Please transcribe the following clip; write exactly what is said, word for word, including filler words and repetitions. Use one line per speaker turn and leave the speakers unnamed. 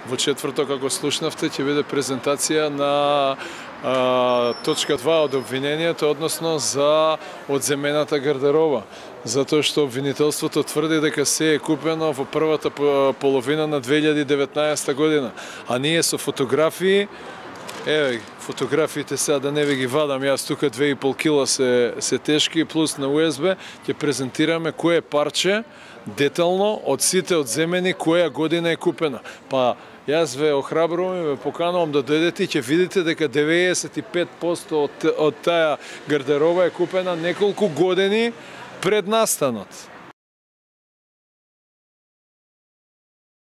Во четврток, како слушнавте, ќе биде презентација на а, точка два од обвинението, односно за одземената гардероба. Затоа што обвинителството тврди дека се е купено во првата половина на две илјади и деветнаесета година. А ние со фотографии, еве фотографиите сега да не ви ги вадам, јас тука две и пол кила се, се тешки, плюс на У Ес Б ќе презентираме кое парче детално од сите одземени која година е купена. Па јас ве охрабрувам и ве поканувам да дојдете и ќе видите дека деветдесет и пет посто од, од таа гардероба е купена неколку години пред настанот.